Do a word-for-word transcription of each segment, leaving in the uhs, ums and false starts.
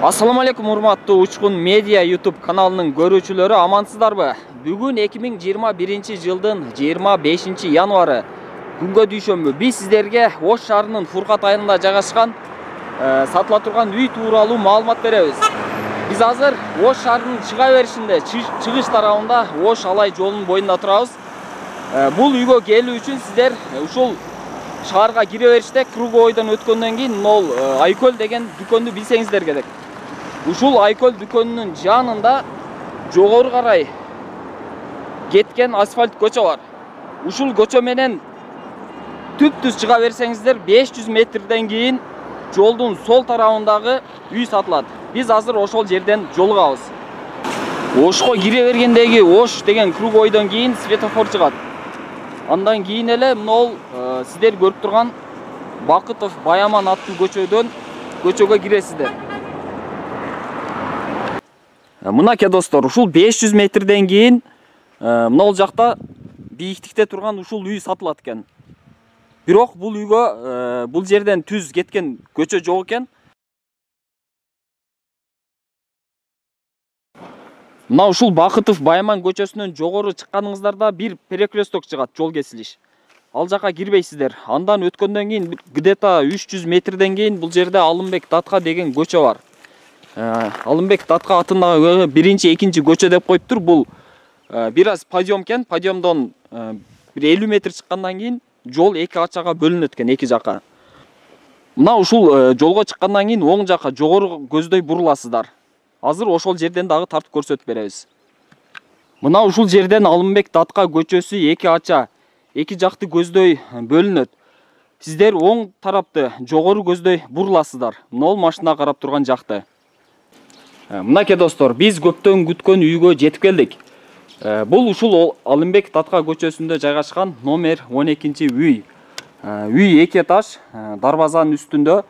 Ассаламу алейкум, урматтуу Учкун медиа YouTube каналынын көрүүчүлөрү, амансыздарбы? Бүгүн эки миң жыйырма биринчи жылдын жыйырма бешинчи январы күнгө дүйшөмбү. Биз сиздерге Ош шаарынын Фуркат айылында жайгашкан э, сатыла турган үй тууралуу маалымат беребиз. Биз азыр Ош шаарынын чыга беришинде, чыгыш тарабында Ош Алай жолунун боюнда турабыз. Э, бул үйгө келүү үчүн сиздер ушул шаарга кире бериште круговойдон өткөндөн кийин мол Айкөл деген дүкөндү билсеңиздер керек. Ушул Айкөл дүкөнүнүн жанында жогору карай кеткен асфальт көчө бар. Ушул көчө менен түп-түз чыга берсеңиздер беш жүз метрден кийин жолдун сол тарабындагы үй сатылат. Биз азыр ошол жерден жолугабыз. Ошко кире бергендеги Ош деген круговойдон кийин светофор чыгат. Андан кийин эле мынол сиздер көрүп турган Бакытов Баяман аттуу көчөдөн көчөгө киресиздер. Мынакей достор, ушул беш жүз метрден кийин мынол жакта бийиктикте турган ушул үй сатылат экен. Бирок бул үйгө бул жерден түз кеткен көчө жок экен. Мына ушул Бакытов Баяман көчөсүнөн жогору чыкканыңыздарда бир перекресток чыгат, жол кесилиш. Ал жака кирбейсиздер. Андан өткөндөн кийин где-то үч жүз метрден кийин бул жерде Алымбек Татка деген көчө бар. Алымбек Татка атындагы биринчи, экинчи көчө деп коюптур. Бул бир аз подъем экен. Подъемдон бир элүү метр чыккандан кийин жол эки ачага бөлүнөт экен, эки жака. Мына ушул жолго чыккандан кийин оң жака жогору көздөй буруласыздар. Азыр ошол жерден дагы тартып көрсөтүп беребиз. Мына ушул жерден Алымбек Татка көчөсү эки ача, эки жакты көздөй бөлүнөт. Сиздер оң тарапты жогору көздөй буруласыздар. Мынол машина карап турган жакты. Мынакей достор, биз көптөн күткөн үйгө жетип келдик. Бул ушул Алымбек Татка көчөсүндө жайгашкан номер он экинчи үй. Үй эки этаж, дарбазанын үстүндө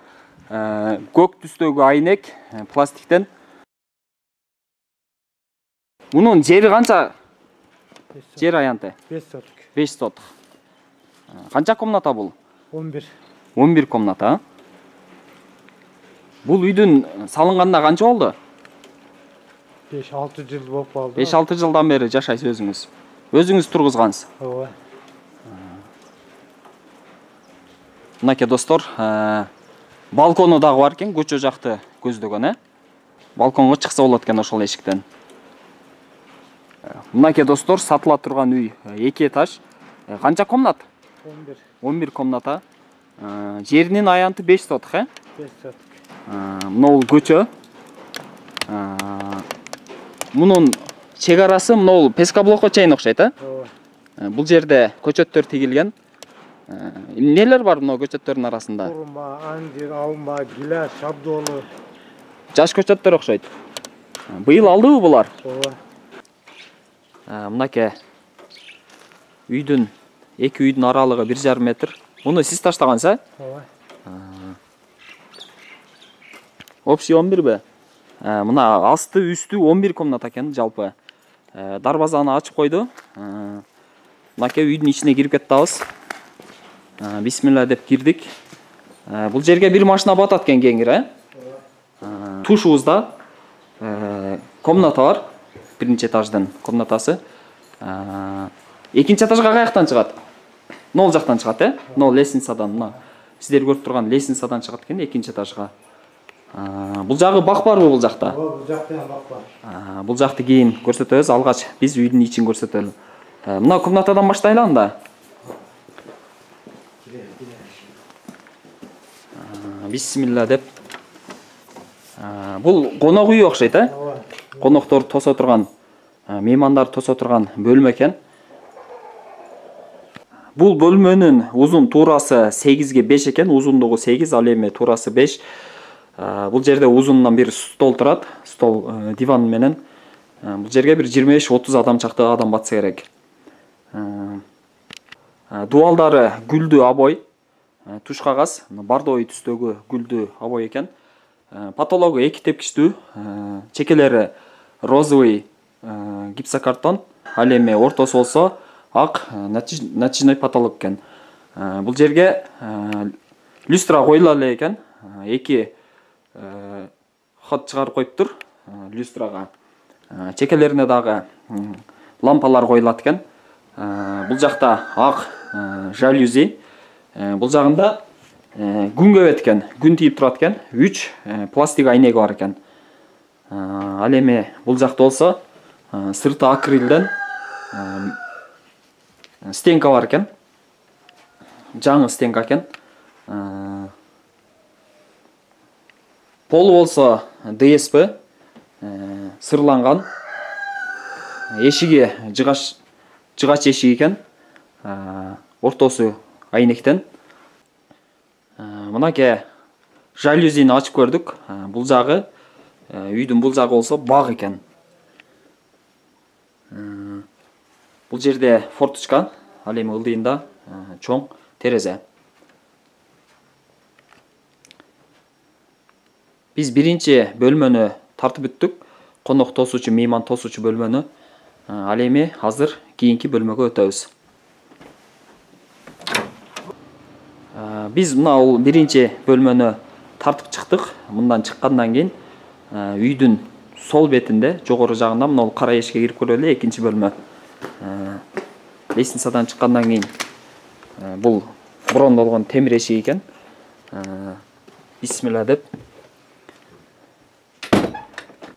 көк түстөгү айнек пластиктен. Мунун жери канча? Жер аянты? беш соток. беш соток. Канча комната бул? он бир. он бир комната. Бул үйдүн салынганына канча болду? беш алты жыл болуп калды. беш алты жылдан бери жашайсыз өзүңүз. Өзүңүз тургузгансыз. Ооба. Мынакей достор, балкону дагы бар экен, көчө жакты көздөгөн, э? Балконго чыкса болот экен ошол эшиктен. Мынакей достор, сатыла турган үй эки этаж. Канча комнат? он бир. он бир комната. Жеринин аянты беш соток, э? беш соток. Мынол көчө. Мунун чек арасы мынол пескоблокко чейин окшойт, э? Ооба. Бул жерде көчөттөр тигилген. Нелер бар мына көчөттөрдүн арасында? Урма, андир, алма, гиляс, шабдолу. Жаш көчөттөр окшойт. Быйыл алдыбы булар? Ооба. Мынакей үйдүн эки үйдүн аралыгы бир жарым метр. Муну сиз таштагансыз, э? Ооба. Общий он бир бе? Мына асты үстү он бир комната экен жалпы. Дарбазаны ачып койду. Мынакей үйдүн ичине кирип кеттабыз. Бисмилла деп кирдик. Бул жерге бир машина батат экен кеңир, э? Тушубузда комната бар. Биринчи этаждын комнатасы. Экинчи этажга каяктан чыгат? Нол жактан чыгат, э? Нол лестницадан, мына. Сиздер көрүп турган лестницадан чыгат экен экинчи этажга. Бул жагы бак барбы бул жакта? Ооба, бул жакта бак бар. Бул жакты кийин көрсөтөбүз, алгач биз үйдүн ичин көрсөтөлү. Мына комнатадан баштайлы анда. Бисмилла деп. Бул конок үй окшойт, э? Ооба. Коноктор тосо турган, меймандар тосо турган бөлмө экен. Бул бөлмөнүн узун туурасы сегизге беш экен, узундугу сегиз, ал эми туурасы беш. Бул жерде узунунан бир стол турат, стол диван менен. Бул жерге бир жыйырма беш отуз адам чакты адам батса керек. Дуалдары гүлдүү обой, туш кагаз, бардой түстөгү гүлдүү обой экен. Потологу эки тепкичтүү, чекелери розовый гипсокартон, ал эми ортосу болсо ак натяжной потолок экен. Бул жерге люстра коюла эле экен. Эки ход чыгарып коюптур люстрага. Чекелерине дагы лампалар коюлат экен. Бул жакта ак жалюзи. Бул жагында күн көбөт экен, күн тийип турат экен. үч пластик айнеги бар экен. Ал эми бул жакта болсо сырты акрилден стенка бар экен. Жаңы стенка экен. Полу болсо дэ эс пэ сырланган. Эшиги жыгач жыгач эшик экен. Ортосу айнектен. Мынакей жалюзини ачып көрдүк. Бул жагы үйдүн бул жагы болсо баг экен. Бул жерде форточка, ал эми ылдыйында чоң терезе. Биз биринчи бөлмөнү тартып бүттүк. Конок тосуучу, мейман тосуучу бөлмөнү. Ал эми азыр кийинки бөлмөгө өтөбүз. Биз мына бул биринчи бөлмөнү тартып чыктык. Мындан чыккандан кийин үйдүн сол бетинде, жогору жагында мына бул кара эшикке кирип көрөлү эле, экинчи бөлмө. Лестницадан чыккандан кийин бул брондолгон темир эшик экен. Бисмилла деп.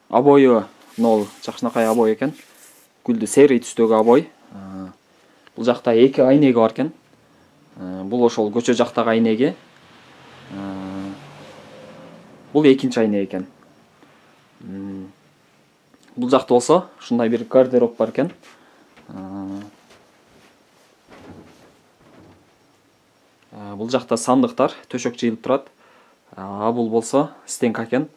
Обою нол жакшынакай обой экен. Гүлдү серый түстөгү обой. Бул жакта эки айнеги бар экен. Бул ошол көчө жактагы айнеги. Бул экинчи айнеги экен. Бул жакта болсо ушундай бир гардероб бар экен. Бул жакта сандыктар, төшөк жыйылып турат. А бул болсо стенка экен.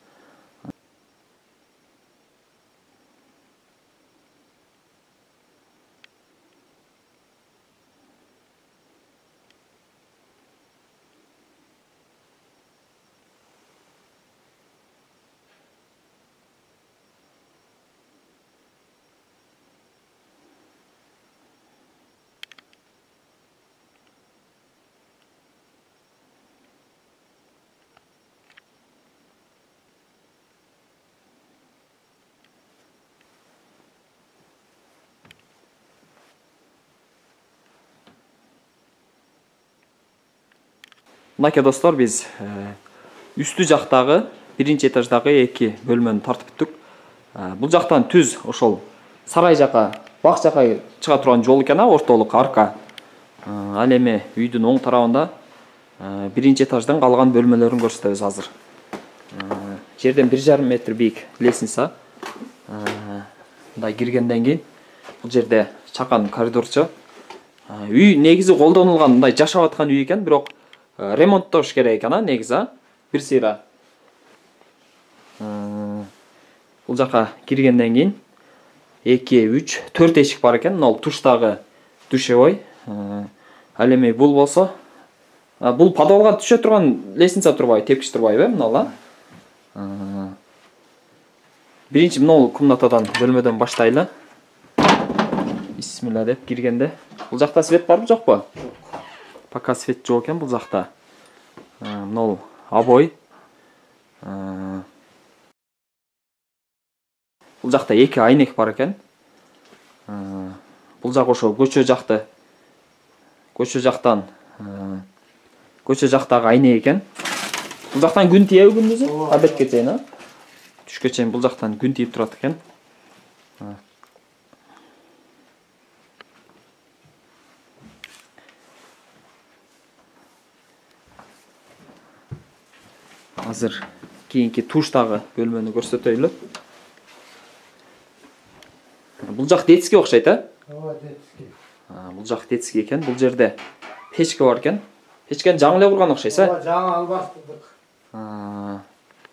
Мынакей достор, биз үстү жактагы биринчи этаждагы эки бөлмөнү тартып бүттүк. Бул жактан түз ошол сарай жака, бак жака чыга турган жол экен, ортолук арка. Ал эми үйдүн оң тарабында биринчи этаждан калган бөлмөлөрүн көрсөтөбүз азыр. Жерден бир жарым метр бийик лестница. Мындай киргенден кийин бул жерде чакан коридорчу. Үй негизи колдонулган, мындай жашап аткан үй экен, бирок ремонттош керек экен, негизи, бир сыйра. Бул жака киргенден кийин эки, үч, төрт эшик бар экен. Мына туштагы душевой. Ал эми бул болсо, бул подвалга түшө турган лестница турбайбы, тепкич турбайбы, мына. Биринчи мына комнатадан, бөлмөдөн баштайлы. Бисмилла деп киргенде. Бул жакта свет барбы, жокпу? Пока свет жок экен бул жакта. Мына обой. Бул жакта эки айнек бар экен. Бул жак ошо көчө жакты. Көчө жактан көчө жактагы айнек экен. Бул жактан күн тийеби күндүзү? Обедке чейин, а? Түшкө чейин бул жактан күн тийип турат экен. Азыр кийинки туштагы бөлмөнү көрсөтөйлү. Бул жак детский окшойт, а? Ооба, детский. Бул жак детский экен. Бул жерде печка бар экен. Печкени жаңы эле курган окшойсуз, а? Ооба, жаңы алмаштырдык.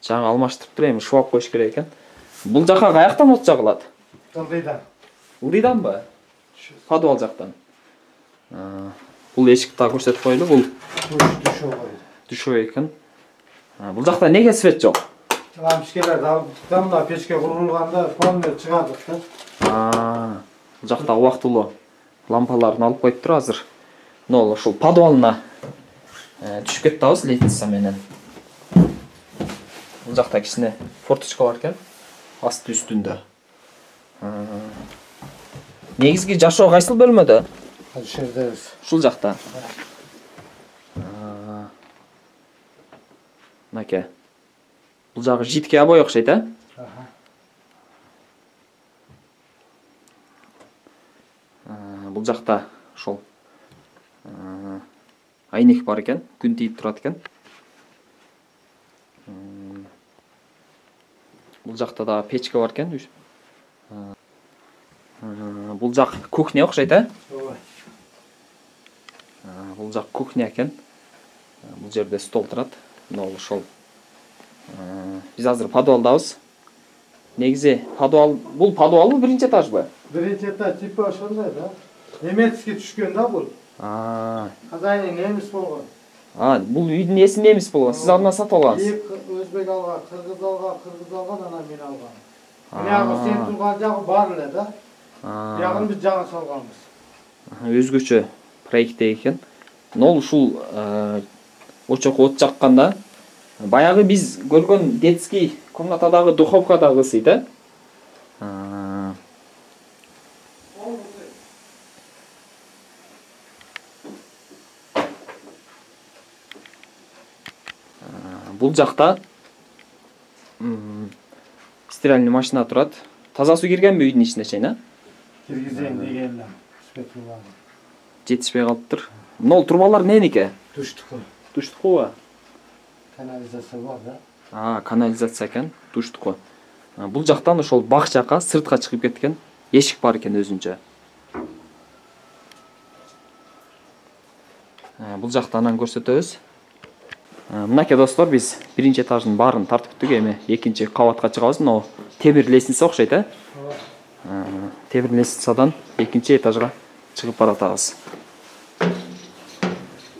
Жаңы алмаштырып элем, шубап коюш керек экен. Бул жака каяктан от жагылат? Ылдыйдан. Ылдыйданбы? Подвал жактан. Бул эшикти да көрсөтүп коелу. Бул Душевой. Душевой экен. Бул жакта неге свет жок? Лампочкалар алып, мына печке курулганда фонер чыгадык да. Бул жакта убактылуу лампаларын алып коюптур азыр. Мына ошол подвалына түшүп кетебиз лестница менен. Бул жакта кичине форточка бар экен. Асты үстүндө. Негизги жашоо кайсыл бөлмөдө? Ушул жердебиз. Ушул жакта. Мынакей. Бул жагы жидке обой окшойт, э? Бул жакта ошол айнек бар экен, күн тийип турат экен. Бул жакта да печка бар экен. Бул жак кухня окшойт, э? Ооба. Бул жак кухня экен. Бул жерде стол турат. Мына ошол. Биз азыр подвалдабыз. Негизи подвал, бул подвалбы, биринчи этажбы? Биринчи этаж типа ошондой да. Немецке түшкөн да бул. А. Хозяин немис болгон. А, бул үйдүн ээси немис болгон. Сиз андан сатып алгансыз. Өзбек алган, кыргыз алган, кыргыз алган, анан мен алгам. Мына сен турган жагы бар эле да. Ягын биз жаңы салганбыз. Өзгөчө проекте экен. Нол ушул очок от жакканда баягы биз көргөн детский комнатадагы духовкадагы ысыйт, э? Бул жакта стиральный машина турат. Таза суу киргенби үйдүн ичине чейин, э? Киргизейин деген элем. Спетулар. Жетишпей калыптыр. Нол турбалар эмненики? Туштуку. Туштукубу? Канализация бар да. А, канализация экен, туштуку. Бул жактан ошол бак жакка сыртка чыгып кеткен эшик бар экен өзүнчө. Бул жакта анан көрсөтөбүз. Мынакей достор, биз биринчи этаждын баарын тартып бүттүк. Эми экинчи кабатка чыгабыз. Но темир лестница окшойт, э? Темир лестницадан экинчи этажга чыгып баратабыз.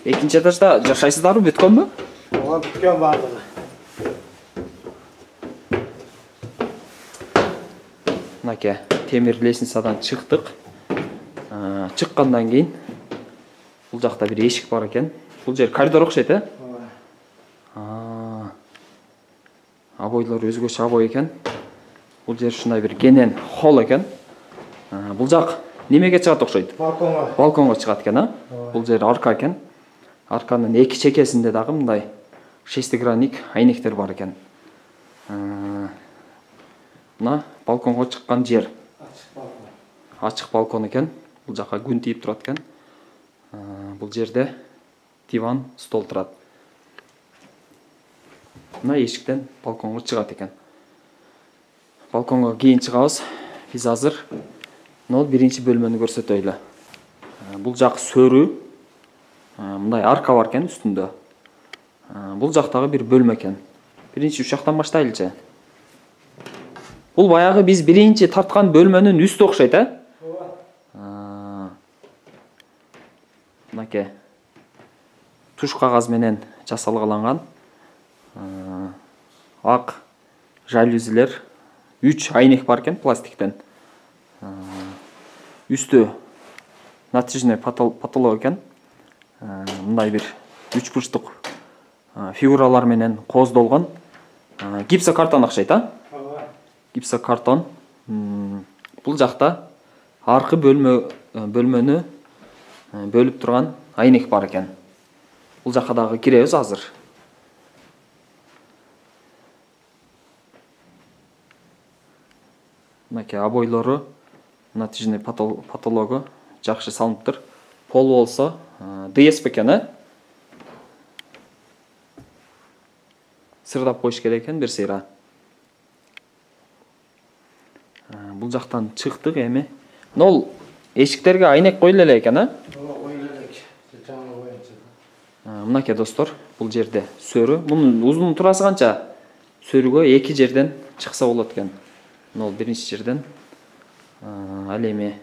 Экинчи этажда жашайсыздарбы, бүткөнбү? Ооба, бүткөн баардыгы. Мынакей темир лестницадан чыктык. Чыккандан кийин бул жакта бир эшик бар экен. Бул жер коридор окшойт, э? Обойлор өзгөчө обой экен. Бул жер ушундай бир кенен холл экен. Бул жак немеге чыгат окшойт? Балконго. Балконго чыгат экен, а? Бул жер арка экен. Арканын эки чекесинде дагы мындай шестигранник айнектер бар экен. Мына балконго чыккан жер. Ачык балкон. Ачык балкон экен. Бул жака күн тийип турат экен. Бул жерде диван, стол турат. Мына эшиктен балконго чыгат экен. Балконго кийин чыгабыз. Биз азыр нол биринчи бөлмөнү көрсөтөйлү. Бул жак сөрү. Мындай арка бар экен үстүндө. Бул жактагы бир бөлмө экен. Биринчи ушактан баштайлычы. Бул баягы биз биринчи тарткан бөлмөнүн үстү окшойт, э? Ооба. Мынакей туш кагаз менен жасалгаланган ак жалюзилер, үч айнек бар экен пластиктен. Үстү натяжный потолок экен. Мындай бир үч бурчтук фигуралар менен кооздолгон гипсокартон окшойт, а? Ооба. Гипсокартон. Бул жакта аркы бөлмө бөлмөнү бөлүп турган айнек бар экен. Бул жакка дагы киребиз азыр. Мынакей обойлору, натяжный потологу жакшы салыныптыр. Пол болсо ДСП экен, э? Сырдап коюш керек экен бир сыйра. Бул жактан чыктык эми. Нол эшиктерге айнек коюлу эле экен, э? Ооба, коюлу элек. Жаңы боюнча. Мынакей достор, бул жерде сөрү. Мунун узун турасы канча? Сөрүгө эки жерден чыкса болот экен. Нол биринчи жерден. Ал эми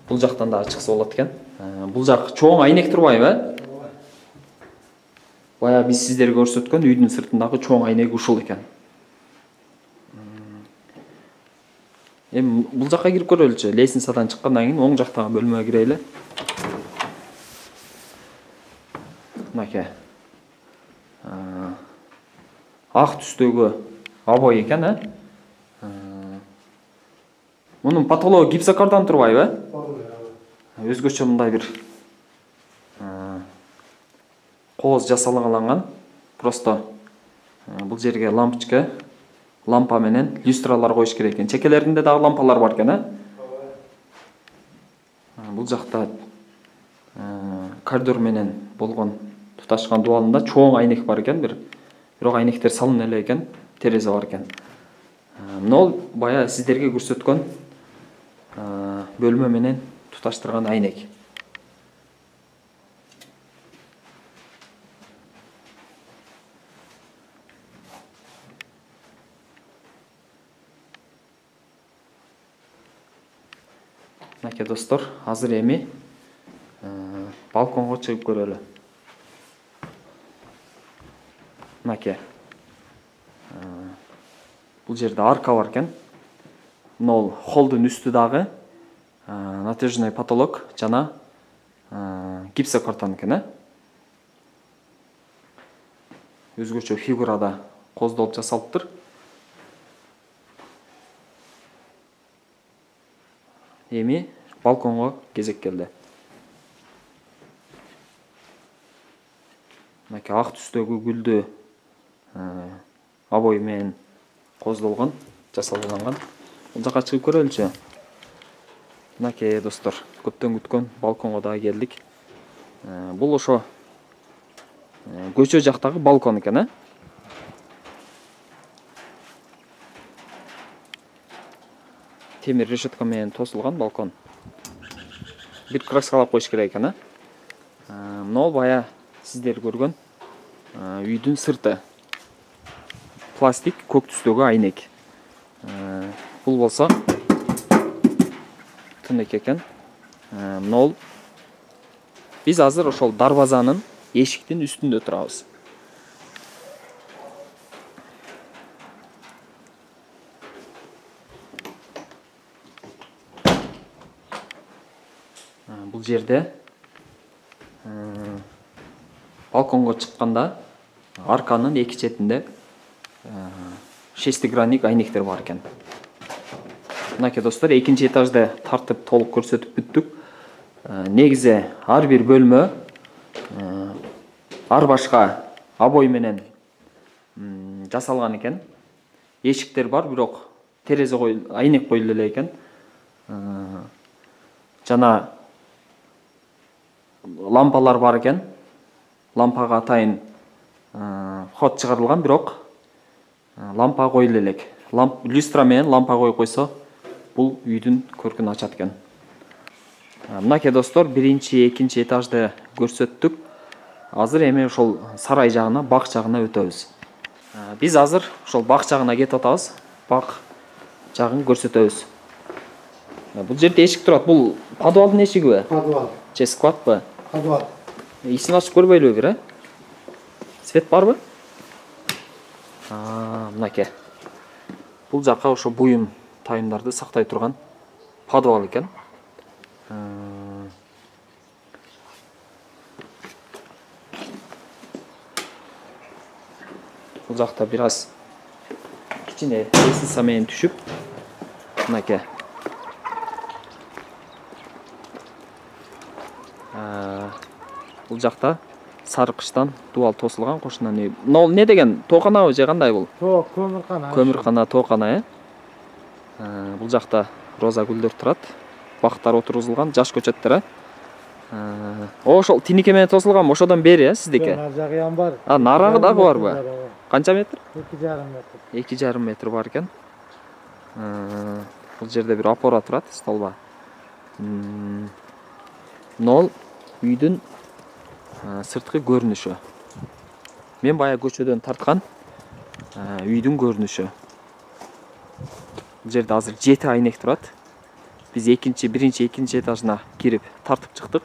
бул жактан да чыкса болот экен. Бул жак чоң айнек турбайбы, э? Ооба. Бая биз сиздерге көрсөткөн үйдүн сыртындагы чоң айнек ушул экен. Эми бул жакка кирип көрөлүчү. Лестницадан чыккандан кийин оң жактагы бөлмөгө кирели. Мынакей. ак түстөгү обой экен, э? Мунун потологу гипсокардан турбайбы, э? Өзгөчө мындай бир кооз жасалган. Просто бул жерге лампочка, лампа менен люстралар коюш керек экен. Чекелеринде дагы лампалар бар экен, э? Бул жакта коридор менен болгон туташкан дубалында чоң айнек бар экен, бир бирок айнектер салына эле экен, терезе бар экен. Мына бая сиздерге көрсөткөн бөлмө менен туташтырган айнек. Мынакей достор, азыр эми балконго чыгып көрөлү. Мынакей. Бул жерде арка бар экен. Мына холдун үстү дагы натяжный потолок жана гипсокартон экен, э? Өзгөчө фигурада коздолуп жасалыптыр. Эми балконго кезек келди. Мынакей ак түстөгү гүлдү обой менен коздолгон, жасалган. Бул жака чыгып көрөлүчү. Мынакей достор, көптөн күткөн балконго дагы келдик. Бул ошо көчө жактагы балкон экен, э? Темир решетка менен тосулган балкон. Бир краскалап коюш керек экен, э? Мына бая сиздер көргөн үйдүн сырты. Пластик көк түстөгү айнек. Бул болсо тынык экен. Мына биз азыр ошол дарбазанын эшиктин үстүндө турабыз. Бул жерде балконго чыкканда арканын эки четинде шестигранник айнектер бар экен. Мынакей достор, экинчи этажды тартып толук көрсөтүп бүттүк. Негизи ар бир бөлмө ар башка обой менен жасалган экен. Эшиктер бар, бирок терезе кой, айнек коюлу эле экен. Жана лампалар бар экен. Лампага атайын ход чыгарылган, бирок лампа коюлу элек. Ламп люстра менен лампа коюп койсо, бул үйдүн көркүн ачат экен. Мынакей достор, биринчи, экинчи этажды көрсөттүк. Азыр эми ошол сарай жагына, бак жагына өтөбүз. Биз азыр ошол бак жагына кетип атабыз. Бак жагын көрсөтөбүз. Бул жерде эшик турат. Бул подвалдын эшигиби? Подвал. Же складбы? Подвал. Исин ачып көрбөйлүбү бир, э? Свет барбы? А, мынакей. Бул жака ошо буюм тайымдарды сактай турган подвал экен. Бул жакта бир аз кичине лестница менен түшүп, мынакей. Бул жакта сарыкычтан дубал тосулган кошунан үй. Мына не деген? Тооканабы же кандай бул? Тоок, көмүркана. Көмүркана, тоокана, э? Бул жакта роза гүлдөр турат. Бактар отургузулган, жаш көчөттөр, э? Ошол тинике менен тосулган, ошодон бери, э, сиздики? Нар жагы ям бар. А, нарагы дагы барбы? Канча метр? эки жарым метр. эки жарым метр бар экен. Бул жерде бир опора турат, столба. Мына үйдүн сырткы көрүнүшү. Мен бая көчөдөн тарткан үйдүн көрүнүшү. Бул жерде азыр жети айнек турат. Биз экинчи, биринчи, экинчи этажына кирип тартып чыктык.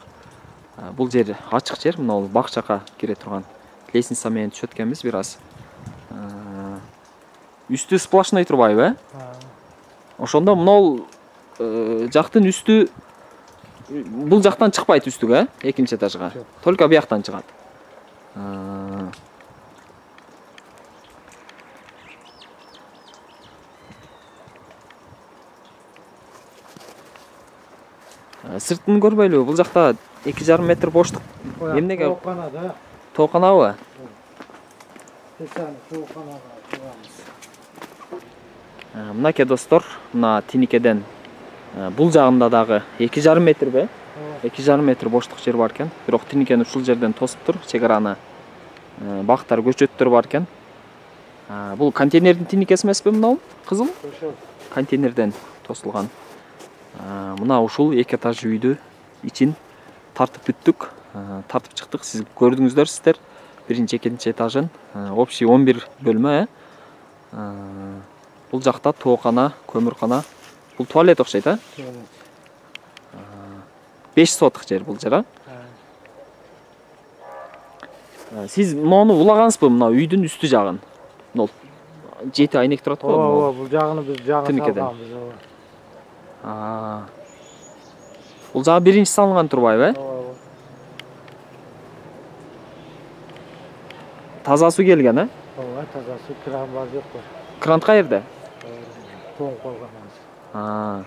Бул жер ачык жер, мына бак жака кире турган. Лестница менен түшөт экенбиз бир аз. Үстү сплошной турбайбы, э? Ошондо мына жактын үстү бул жактан чыкпайт үстүгө, э? Экинчи этажга. Только бияктан чыгат. Сыртын көрбөйлүбү? Бул жакта эки жарым метр боштук. Эмнеге? Тоокана да. Тооканабы? Тесаны тооканага турабыз. Мынакей достор, мына тиникеден бул жагында дагы эки жарым метрби? эки жарым метр боштук жер бар экен. Бирок тиникени ушул жерден тосуп тур, чек араны. Бактар, көчөттөр бар экен. Бул контейнердин тиникеси эмеспи мынау? Кызыл? Ошол. Контейнерден тосулган. Мына ушул эки этаж үйдү ичин тартып бүттүк. Тартып чыктык. Сиз көрдүңүздөр сиздер. Биринчи, экинчи этажын. Общий он бир бөлмө, э? Бул жакта тоокана, көмүркана. Бул туалет окшойт, э? беш соток жер бул жер, а? Сиз мону улагансызбы, мына үйдүн үстү жагын? Мына жети айнек турат го. Ооба, бул жагыны биз жага салганбыз, ооба. Бул жагы биринчи салынган турбайбы, э? Ооба. Таза суу келген, э? Ооба, таза суу, кран бар жокпу? Кран кайерде? Тоңуп калган.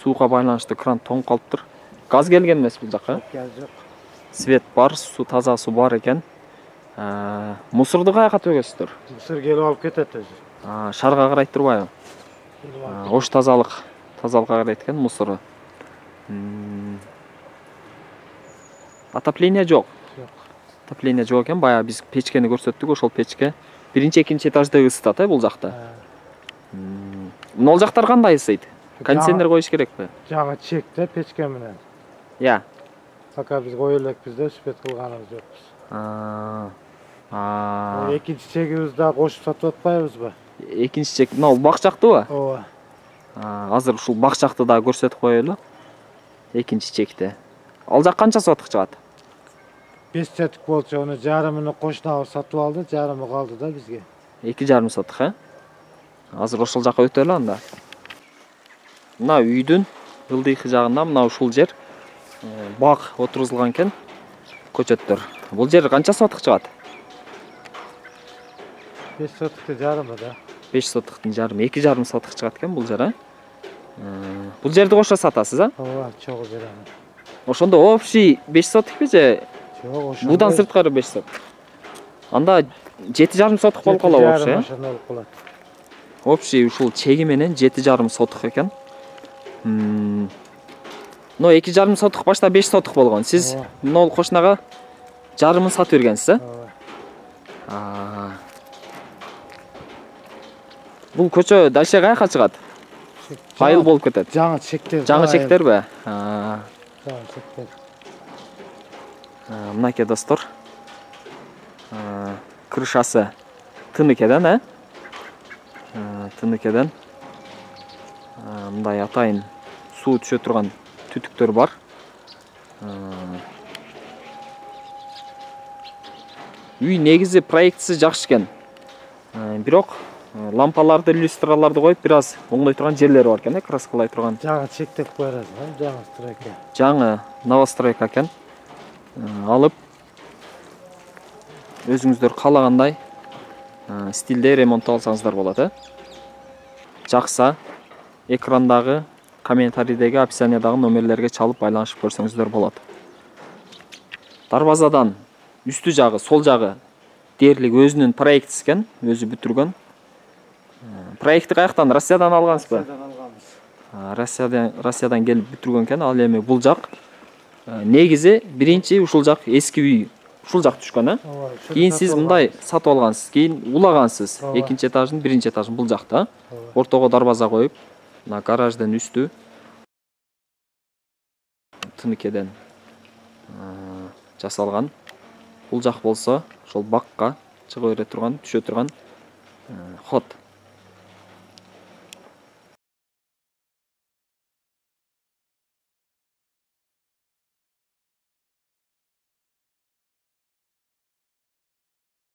Сууга байланыштуу кран тоңуп калыптыр. Газ келген эмес бул жакка? Газ жок. Свет бар, суу таза суу бар экен. Мусорду каяка төгөсүздөр? Мусор келип алып кетет өзү. Шарга карайт турбайбы? Ош тазалык, тазалыкка карайт экен мусору. Отопление жок. Жок. Отопление жок экен. Баягы биз печкени көрсөттүк, ошол печке биринчи, экинчи этажды ысытат, э, бул жакта. Могул жактар кандай ысыйт? Кондиционер коюш керекпи? Жага чекте печке менен. Я. Пока биз кое элекпиз да, сүпөт кылганыбыз жокпуз. Экинчи чегибизди да кошуп сатып атпайбызбы? Экинчи чек, мына бак жактыбы? Ооба. Азыр ушул бак жакты да көрсөтүп коелу. Экинчи чекте. Ал жак канча соток чыгат? беш соток болчу, аны жарымын кошунабыз сатып алды, жарымы калды да бизге. эки жарым соток, э? Азыр ошол жака өтөлү анда. Мына үйдүн ылдыйкы жагында мына ушул жер бак отургузулган экен, көчөттөр. Бул жер канча соток чыгат? беш сотоктун жарымы да. беш сотоктун жарымы, эки жарым соток чыгат экен бул жер, э? Бул жерди кошо сатасыз, а? Ооба, чогуу берем. Ошондо общий беш сотокпи же? Жок, ошондо. Будан сырткары беш соток. Анда жети жарым соток болуп калат вообще, э? Ошондой болуп калат. Общий ушул чеги менен жети жарым соток экен. Но эки жарым соток башта беш соток болгон. Сиз нол кошунага жарымын сатып бергенсиз, э? Ооба. Бул көчө дальше каяка чыгат? Айыл болуп кетет. Жаңы чектер. Жаңы чектерби? Жаңы чектер. Мынакей достор. Крышасы тыныкеден, э? Тыныкеден. Мындай атайын суу түшө турган түтүктөр бар. Үй негизи проектisi жакшы экен. Бирок лампаларды, люстраларды коюп, бир аз оңдой турган жерлери бар экен, э, краскалай турган. Жаңы чектеп коерсиз, жаңы стройка. Жаңы новостройка экен. Алып өзүңүздөр каалагандай стилде ремонттоп алсаңыздар болот, э? Жакса экрандагы, комментарийдеги, описаниядагы номерлерге чалып байланышып көрсөңүздөр болот. Дарбазадан үстү жагы, сол жагы дээрлик өзүнүн проектisi экен, өзү бүтүргөн. Проекти каяктан? Россиядан алгансызбы? Россиядан алганбыз. Россиядан Россиядан келип бүтүргөн экен. Ал эми бул жак негизи биринчи ушул жак эски үй, ушул жак түшкөн, э? Кийин сиз мындай сатып алгансыз, кийин улагансыз. Экинчи этаждын, биринчи этажын бул жакта. Ортого дарбаза коюп, мына гараждын үстү тыныкеден жасалган. Бул жак болсо ошол бакка чыга бере турган, түшө турган ход.